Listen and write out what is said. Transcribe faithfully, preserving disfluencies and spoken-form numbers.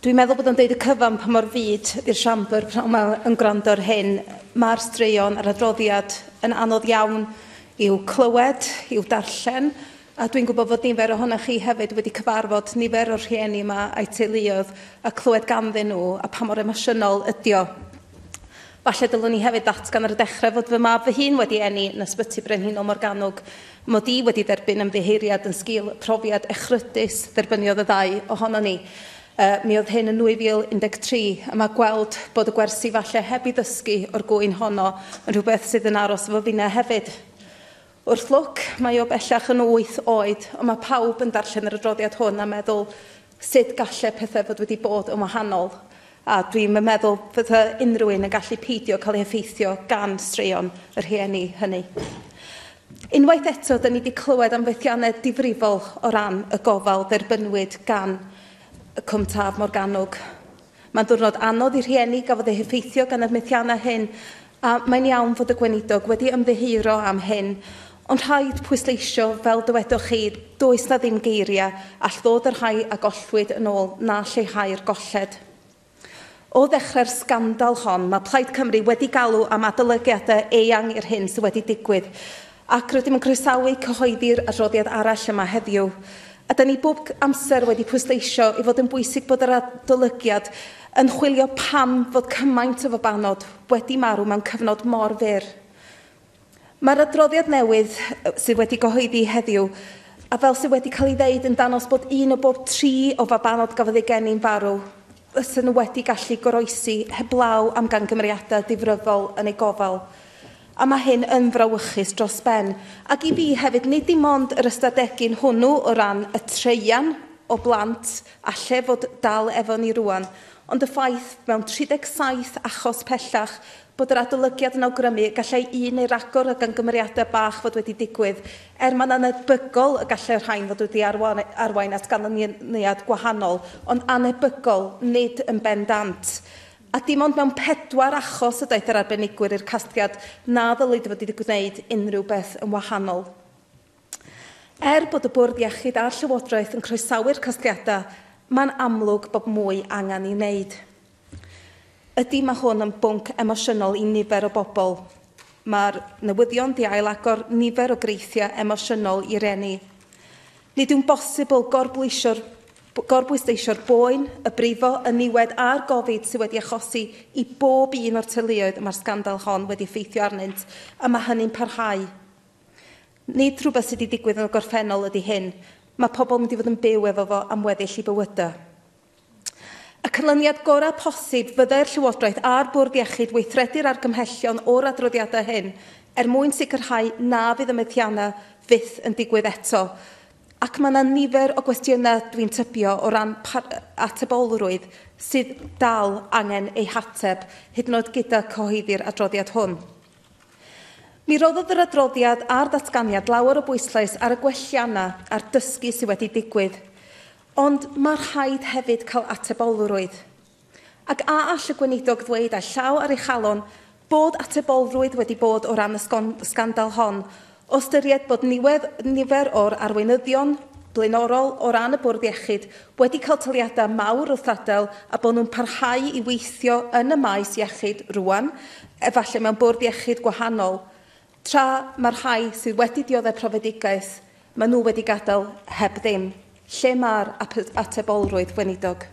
Dwi'n meddwl bod o'n deud y cyfan pa mor fud i'r siambr pan yma yn gwrando ar hyn. Mae'r straeon a'r adroddiad yn anodd iawn i'w clywed, i'w darllen, a dwi'n gwybod fod nifer ohonoch chi hefyd wedi cyfarfod nifer o'r rhieni yma a'u teuluoedd a clywed ganddyn nhw a pa mor emosiynol ydi o. Falle dylwn ni hefyd ddatgan ar y dechrau fod fy mab fy hun wedi eni yn Ysbyty Brenhinol Morgannwg, mod i wedi derbyn ymddiheuriad yn sgil profiad echrydus dderbyniodd y ddau ohonon ni. Uh, mi oedd hyn yn nwy fil un deg tri, a mae gweld bod y gwersi falle heb i ddysgu o'r gwyn honno yn rhywbeth sydd yn aros efo finna hefyd. Wrth lwc, mae o bellach yn wyth oed, ond mae pawb yn darllen yr adroddiad hwn a meddwl sut gallai pethau fod wedi bod yn wahanol. A dwi'n meddwl fydda unrhyw un yn gallu peidio cael ei effeithio gan straeon y rhieni hynny. Unwaith eto, da ni wedi clywed am fethiannau difrifol o ran y gofal dderbynwyd gan y Cwm Taf Morgannwg. Mae'n diwrnod anodd i'r rhieni gafodd eu heffeithio gan y methiannau hyn, a mae'n iawn fod y gweinidog wedi ymddiheuro am hyn, ond rhaid pwysleisio, fel dywedwch chi, does na ddim geiriau all ddod y rhai a gollwyd yn ôl na lleihau'r golled. O ddechrau'r sgandal hon, mae Plaid Cymru wedi galw am adolygiadau eang i'r hyn sydd wedi digwydd, ac rydym yn croesawu cyhoeddi'r adroddiad arall yma heddiw. A da ni bob amser wedi pwysleisio i fod yn bwysig bod yr adolygiad yn chwilio pam fod cymaint o fabanod wedi marw mewn cyfnod mor fyr. Mae'r adroddiad newydd sydd wedi gyhoeddi heddiw, a fel sydd wedi cael ei ddeud, yn dangos bod un o bob tri o fabanod gafodd ei geni'n farw, fysen nhw wedi gallu goroesi heblaw am gamgymeriadau difrifol yn eu gofal. A mae hyn yn frawychus dros ben. Ac i fi hefyd, nid dim ond yr ystadegyn hwnnw o ran y treian o blant alle fod dal efo ni rwan, ond y ffaith mewn tri deg saith achos pellach bod yr adolygiad yn awgrymu gallai un neu ragor o gamgymeriadau bach fod wedi digwydd, er mae'n anebygol y gallai'r rhain fod wedi arwain at ganlyniad gwahanol, ond anebygol, nid yn bendant. A dim ond mewn pedwar achos y daeth yr arbenigwyr i'r casgliad na ddylid fod wedi gwneud unrhyw beth yn wahanol. Er bod y Bwrdd Iechyd a'r Llywodraeth yn croesawu'r casgliadau, mae'n amlwg bod mwy angen ei wneud. Ydy, mae hwn yn bwnc emosiynol i nifer o bobl. Mae'r newyddion di ailagor nifer o greithiau emosiynol i reni. Nid yw'n bosibl gorbwysleisio'r gorbwysleisio'r boen, y brifo, y niwed a'r gofid sydd wedi achosi i bob un o'r teuluoedd y mae'r sgandal hon wedi effeithio arnynt, a mae hynny'n parhau. Nid rhywbeth sydd wedi digwydd yn y gorffennol ydy hyn. Mae pobl yn mynd i fod yn byw efo fo am weddill i bywydau. Y canlyniad gorau posib fyddai'r Llywodraeth a'r Bwrdd Iechyd weithredu'r argymhellion o'r adroddiadau hyn er mwyn sicrhau na fydd y methiannau fyth yn digwydd eto. Ac mae yna nifer o gwestiynau dwi'n tybio o ran atebolrwydd sydd dal angen eu hateb, hyd yn oed gyda cyhoeddi'r adroddiad hwn. Mi roddodd yr adroddiad a'r datganiad lawer o bwyslais ar y gwelliannau a'r dysgu sydd wedi digwydd, ond mae rhaid hefyd cael atebolrwydd. Ac a all y gweinidog ddweud â llaw ar ei chalon bod atebolrwydd wedi bod o ran y sgandal hon, o ystyried bod nifer o'r arweinyddion blaenorol o ran y Bwrdd Iechyd wedi cael taliadau mawr wrth adael a bod nhw'n parhau i weithio yn y maes iechyd rwan, efallai mewn bwrdd iechyd gwahanol, tra mae'r rhai sydd wedi dioddef profedigaeth, maen nhw wedi gadael heb ddim. Lle mae'r atebolrwydd, weinidog?